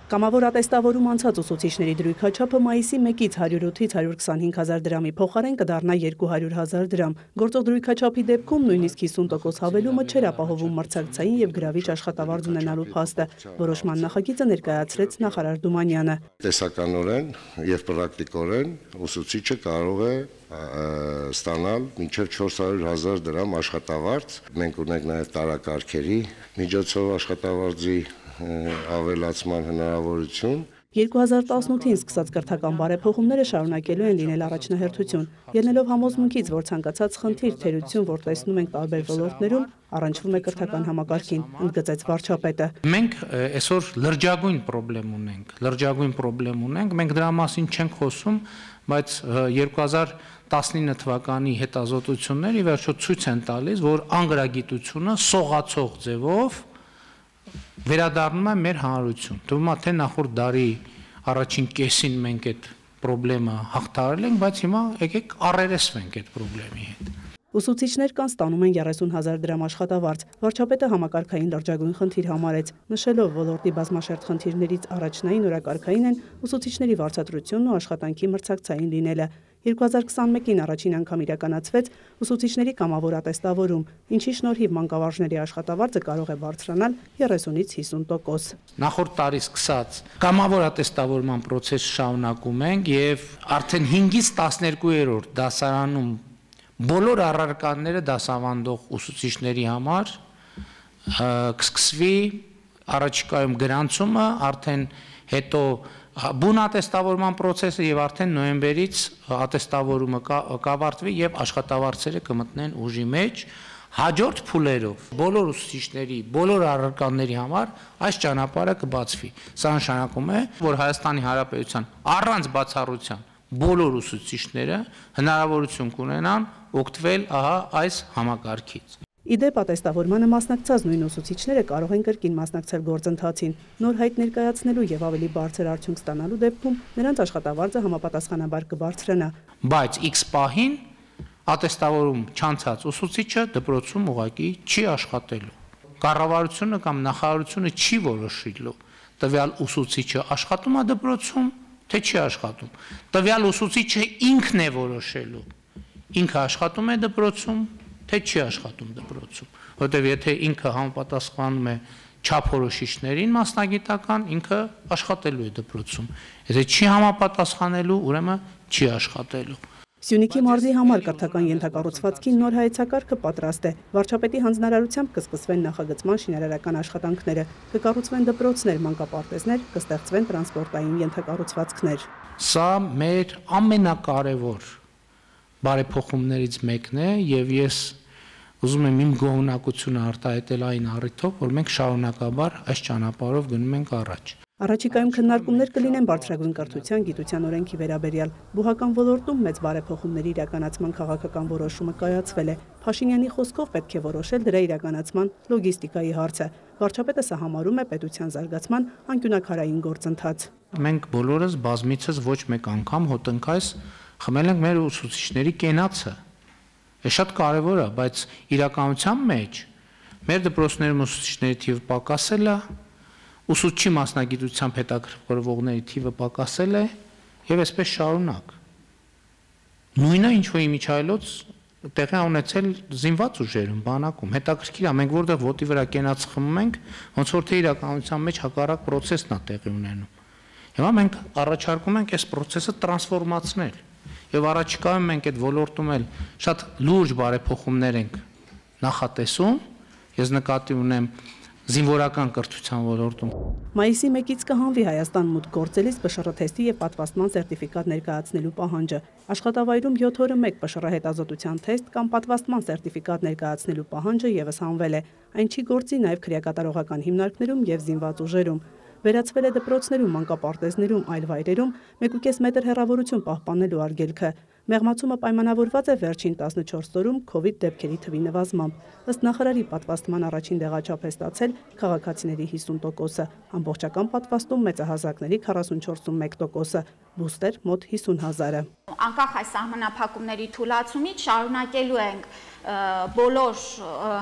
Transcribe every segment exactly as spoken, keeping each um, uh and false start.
Կամավոր ատեստավորում անցած ուսուցիչների դրույքաչափը մայիսի մեկից հարյուր ութից հարյուր քսանհինգ հազար դրամի փոխարեն կդառնա երկու հարյուր հազար դրամ։ Գործող դրույքաչափի դեպքում նույնիսկ հիսուն տոկոս հավելումը չէր ապահովում մրցակցային եւ գրավիչ աշխատավարձ ունենալու փաստը։ Որոշման նախագիծը ներկայացրեց նախարար Դումանյանը։ Տեսականորեն եւ պրակտիկորեն ուսուցիչը կարող է ստանալ մինչև չորս հարյուր հազար դրամ աշխատավարձ։ Մենք ունենք նաեւ տարակարգերի միջոցով աշխատավարձի ավելացման հնարավորություն։ երկու հազար տասնութին սկսած կրթական բարեփոխումները շարունակելու են լինել առաջնահերթություն։ Ելնելով համոզմունքից, որ ցանկացած խնդիր, թերություն, որ տեսնում ենք տարբեր ոլորտներում, առնչվում է կրթական համակարգին, ընդգծեց վարչապետը։ Մենք այսօր լրջագույն խնդրեմ ունենք, լրջագույն խնդրեմ ունենք, մենք դրա մասին չենք խոսում, բայց երկու հազար տասնինը թվականի հետազոտությունները ի վերջո ցույց են տալիս, որ անգրագիտությունը սողացող ձևով վերադառնում է մեր հանրություն։ Թվում է, թե նախորդ դարի առաջին կեսին մենք այդ խնդրեմը հաղթահարել ենք, բայց հիմա եկեք առերեսվենք այդ խնդրեմի հետ։ Ուսուցիչներ կան ստանում են երեսուն հազար դրամ աշխատավարձ։ Վարչապետը համակարգային լրջագույն խնդիր համարեց, նշելով ոլորտի բազմաշերտ խնդիրներից առաջնային օրակարգային են ուսուցիչների վարձատրությունն ու աշխատանքի մրցակցային լինելը։ երկու հազար քսանմեկին առաջին անգամ իրականացվեց ուսուցիչների կամավոր ատեստավորում, ինչի շնորհիվ մանկավարժների աշխատավարձը կարող է բարձրանալ երեսունից հիսուն տոկոս։ Նախորդ տարի սկսած կամավոր ատեստավորման process շարունակում ենք եւ արդեն հինգից տասներկուերորդ դասարանում բոլոր առարկաները դասավանդող ուսուցիչների համար կսկսվի առաջիկայում գրանցումը, արդեն հետո բուն ատեստավորման process-ը եւ արդեն նոյեմբերից ատեստավորումը կավարտվի եւ աշխատավարձերը կմտնեն ուժի մեջ հաջորդ փուլերով բոլոր ուսուցիչների, բոլոր առարկաների համար այս ճանապարհը կբացվի։ Սա նշանակում է, որ Հայաստանի Հանրապետության առանց բացառության բոլոր ուսուցիչները հնարավորություն կունենան օգտվել ահա այս համակարգից։ Իդեպ ատեստավորմանը մասնակցած նույն ուսուցիչները կարող են կրկին մասնակցել գործընթացին։ Նոր հայտ ներկայացնելու եւ ավելի բարձր արդյունք ստանալու դեպքում նրանց աշխատավարձը համապատասխանաբար կբարձրանա։ Բայց X պահին ատեստավորում չանցած ուսուցիչը դպրոցում ուղղակի չի աշխատելու։ Կառավարությունը կամ նախարարությունը չի որոշիլու տվյալ ուսուցիչը աշխատում է դպրոցում, թե չի աշխատում։ Տվյալ ուսուցիչը ինքն է որոշելու։ Ինքը աշխատում է դպրոցում, թե չի աշխատում դպրոցում, որտեղ եթե ինքը համապատասխանում է չափորոշիչներին մասնագիտական, ինքը աշխատելու է դպրոցում։ Եթե չի համապատասխանելու, ուրեմն չի աշխատելու։ Սյունիքի մարզի համար կրթական ենթակառուցվածքի նոր հայեցակարգը պատրաստ է։ Վարչապետի հանձնարարությամբ կսկսվեն նախագծման շինարարական աշխատանքները, կկառուցվեն դպրոցներ, մանկապարտեզներ, կստեղծվեն տրանսպորտային ենթակառուցվածքներ։ Սա մեր ամենակարևոր բարեփոխումներից մեկն է եւ ես ուզում եմ իմ գոհունակությունը արտահայտել այն առիթով, որ մենք շարունակաբար այս ճանապարհով գնում ենք առաջ։ Առաջիկայում քննարկումներ կլինեն բարձրագույն կրթության, գիտության օրենքի վերաբերյալ։ Բուհական ոլորտում մեծ բարեփոխումների իրականացման քաղաքական որոշումը կայացվել է։ Փաշինյանի խոսքով պետք է որոշել դրա իրականացման լոգիստիկայի հարցը։ Վարչապետը սա համարում է պետության զարգացման անկյունաքարային գործընթաց։ Մենք բոլորս բազմիցս ոչ մեկ անգամ հոտնքայս խմել ենք մեր ուսուցիչների կենացը։ Է շատ կարևոր է, բայց իրականության մեջ մեր դպրոցներում ուսուցիչների թիվը պակասել է, ուսուցչի մասնագիտությամբ հետաքրքրվողների թիվը պակասել է եւ այսպես շարունակ։ Նույնը ինչ որ իմիջայլոց տեղի ունեցել զինված ուժերում, բանակում։ Հետաքրքիր է, մենք որտեղ ոտի վրա կենաց խմում ենք, ոնց որ թե իրականության մեջ հակառակ process-ն է տեղի ունենում։ Հիմա մենք առաջարկում ենք այս process-ը տրանսֆորմացնել։ Եվ առաջիկայում մենք այդ ոլորտում էլ շատ լուրջ բարեփոխումներ ենք նախատեսում, ես նկատի ունեմ զինվորական կրթության ոլորտում։ Մայիսի մեկից կհանվի Հայաստան մուտք գործելիս Պ Շ Ռ թեստի եւ պատվաստման սերտիֆիկատ ներկայացնելու պահանջը։ Աշխատավայրում յոթ օրը մեկ Պ Շ Ռ հետազոտության թեստ կամ պատվաստման սերտիֆիկատ ներկայացնելու պահանջը եւս հանվել է։ Այն չի գործի նաեւ քրեակատարողական հիմնարկներում եւ զինված ուժերում։ Վերացվել է դպրոցներում, մանկապարտեզներում, այլ վայրերում մեկուկես մետր հեռավորություն պահպանելու արգելքը։ Մեղմացումը պայմանավորված է վերջին տասնչորս օրում քովիդ դեպքերի թվի նվազմամբ։ Ըստ նախարարի պատվաստման առաջին դեղաչափ է ստացել քաղաքացիների հիսուն տոկոսը, ամբողջական պատվաստում մեծահասակների քառասունչորսում մեկ տոկոսը, բուստեր մոտ հիսուն հազարը։ Անկախ այս սահմանափակումների թուլացումից շարունակելու ենք բոլոր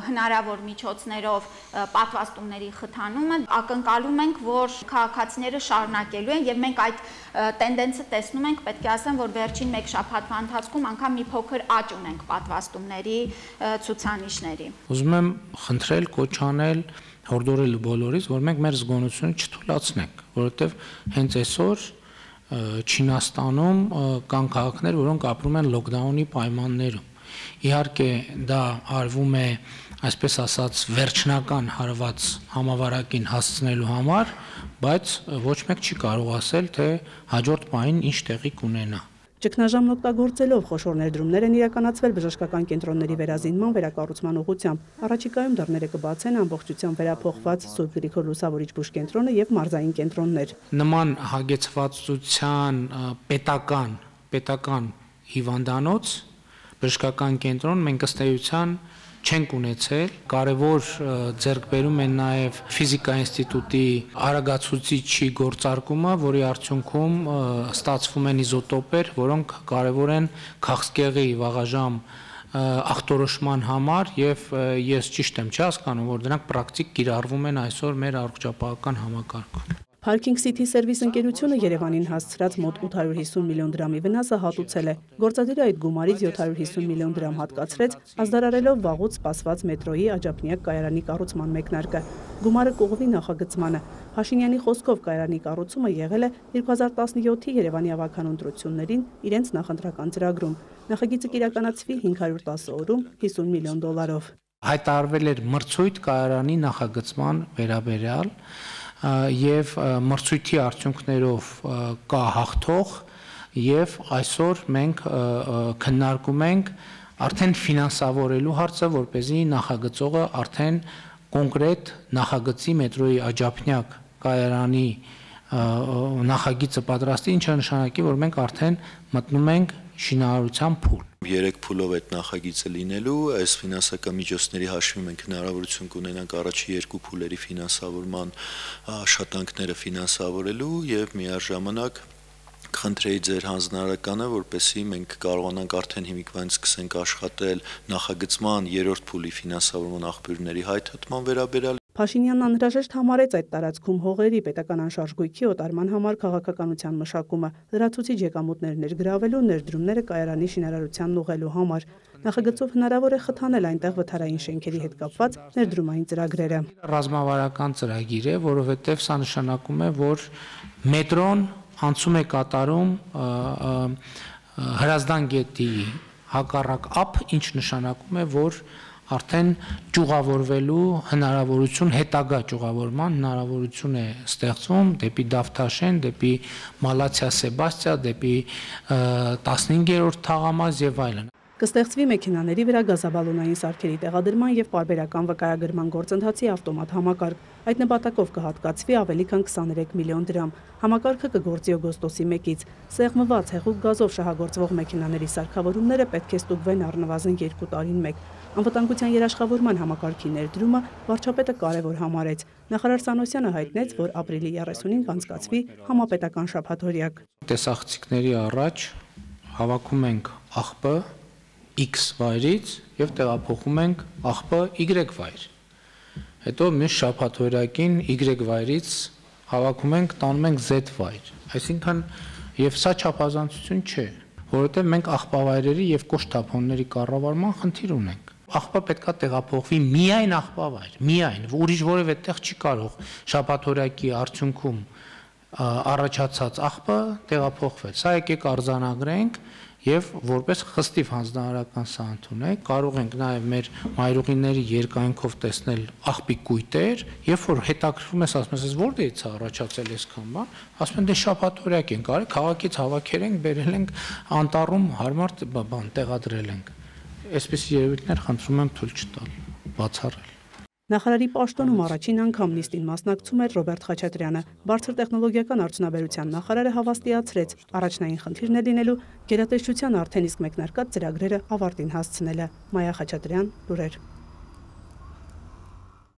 հնարավոր միջոցներով պատվաստումների խթանումը, ակնկալում ենք, որ քաղաքացիները շարունակելու են եւ մենք այդ տենդենսը տեսնում ենք, պետք է ասեմ, որ վերջին մեկ շաբաթվա ընթացքում անգամ մի փոքր աճ ունենք պատվաստումների ցուցանիշների։ Ուզում եմ խնդրել, կոչ անել, հորդորել բոլորից, որ մենք մեր զգոնությունը չթուլացնենք, որովհետեւ հենց այսօր Չինաստանում կան քաղաքներ, որոնք ապրում են լոկդաունի պայմաններում։ Իհարկե դա արվում է, այսպես ասած, վերջնական հարված համավարակին հասցնելու համար, բայց ոչ մեկ չի կարող ասել, թե հաջորդ պահին ինչ տեղի կունենա։ Ճգնաժամն օգտագործելով խոշոր ներդրումներ են իրականացվել բժշկական կենտրոնների վերազինման վերակառուցման ուղղությամբ։ Առաջիկայում դռները կբացեն ամբողջությամբ վերափոխված Սուրբ Գրիգոր Լուսավորիչ բուժկենտրոնը եւ մարզային կենտրոններ։ Նման հագեցվածության պետական պետական հիվանդանոց բժշկական կենտրոն մենք ըստ էության չենք ունեցել, կարևոր ձեռքբերում են նաև ֆիզիկա ինստիտուտի արագացուցիչի գործարկումը, որի արդյունքում ստացվում են իզոտոպեր, որոնք կարևոր են քաղցկեղի վաղաժամ ախտորոշման համար եւ ես ճիշտ եմ չհասկանում, որ դրանք պրակտիկ կիրառվում են այսօր մեր առողջապահական համակարգում։ Parking City Service ընկերությունը Երևանին հասցրած մոտ ութ հարյուր հիսուն միլիոն դրամի վնասը հատուցել է։ Գործադիրը այդ գումարից յոթ հարյուր հիսուն միլիոն դրամ հատկացրեց, ազդարարելով վաղուց սպասված մետրոյի աջափնյակ կայարանի կառուցման մեկնարկը։ Գումարը կուղղվի նախագծմանը։ Փաշինյանի խոսքով կայարանի կառուցումը եղել է երկու հազար տասնյոթի Երևանի ավագան ընտրություններին իրենց նախընտրական ծրագրում։ Նախագիծը կիրականացվի հինգ հարյուր տասը օրում հիսուն միլիոն դոլարով։ Հայտարարվել էր մրցույթ կայարանի նախագծման վերաբերյալ եւ մրցույթի արդյունքներով կա հաղթող եւ այսօր մենք քննարկում ենք արդեն ֆինանսավորելու հարցը, որպեսզի նախագծողը արդեն կոնկրետ նախագծի մետրոյի աջափնյակ կայարանի նախագիծը պատրաստի, ինչը նշանակի, որ մենք արդեն մտնում ենք շինարարության փուլ։ Երեք փուլով այդ նախագիծը լինելու, այս ֆինանսական միջոցների հաշվի մենք հնարավորություն կունենանք առաջի երկու փուլերի ֆինանսավորման աշխատանքները ֆինանսավորելու եւ միաժամանակ խնդրեի ձեր հանձնարարականը, որպեսզի մենք կարողանանք արդեն հիմիկվանից սկսենք աշխատել նախագծման երրորդ փուլի ֆինանսավորման աղբյուրների հայթհատման վերաբերյալ։ Փաշինյանն անհրաժեշտ համարեց այդ տարածքում հողերի պետական անշարժ գույքի օտարման համար քաղաքականության մշակումը, լրացուցիչ եկամուտներ ներգրավելու, ներդրումները կայարանի շինարարությանն ուղղելու համար։ Նախագծով հնարավոր է խթանել այնտեղ վթարային շենքերի հետ կապված ներդրումային ծրագրերը։ Ռազմավարական ծրագիր է, որովհետև սա նշանակում է, որ մետրոն անցում է կատարում Հրազդան գետի հակառակ ափ, ինչ նշանակում է, որ արդեն ճյուղավորվելու հնարավորություն, հետագա ճյուղավորման հնարավորություն է ստեղծվում դեպի Դավթաշեն, դեպի Մալացիա Սեբաստիա, դեպի տասնհինգերորդ թաղամաս եւ այլն։ Կստեղծվի մեքենաների վրա գազաբալոնային սարքերի տեղադրման եւ պարբերական վկայագրման գործընթացի ավտոմատ համակարգ։ Այդ նպատակով կհատկացվի ավելի քան քսաներեք միլիոն դրամ։ Համակարգը կգործի օգոստոսի մեկից։ Սեղմված հեղուկ գազով շահագործվող մեքենաների սարքավորումները պետք է ստուգվեն առնվազն երկու տարին մեկ։ Անվտանգության երաշխավորման համակարգի ներդրումը վարչապետը կարևոր համարեց։ Նախարար Սանոսյանը հայտնեց, որ ապրիլի երեսունին կանցկացվի համապետական շաբաթօրյակ։ Տեսախցիկների առաջ հավաքում ենք աղբը X վայրից եւ տեղափոխում ենք աղբը Y վայր։ Հետո մյուս շաբաթօրյակին Y վայրից հավաքում ենք, տանում ենք Z վայր։ Այսինքն եւ սա չափազանցություն չէ, որովհետեւ մենք աղբավայրերի եւ կոշտափոնների կառավարման խնդիր ունենք։ Աղբը պետքա տեղափոխվի միայն աղբավայր, միայն, ուրիշ որևէ տեղ չի կարող շաբաթօրյակի արդյունքում առաջացած աղբը տեղափոխվել։ Սա եկեք արձանագրենք եւ որպես խստիվ հանձնարարական սա ընդունենք, կարող ենք նաեւ մեր մայրուղիների երկայնքով տեսնել աղբի կույտեր, երբ որ հետաքրքրում ես, ասում ես, որտեղից է առաջացել այսքան բան, ասում են դե շաբաթօրյակ ենք արել, քաղաքից հավաքել ենք, բերել ենք անտառում հարմար բան տեղադրել ենք։ Այսպիսի երևույթներ խնդրում եմ թույլ չտալ, բացառել։ Նախարարի պաշտոնում առաջին անգամ նիստին մասնակցում էր Ռոբերտ Խաչատրյանը։ Բարձր տեխնոլոգիական արդյունաբերության նախարարը հավաստիացրեց, առաջնային խնդիրն է լինելու գերատեսչության արդեն իսկ մեկնարկած ծրագրերը ավարտին հասցնելը։ Մայա Խաչատրյան, լուրեր։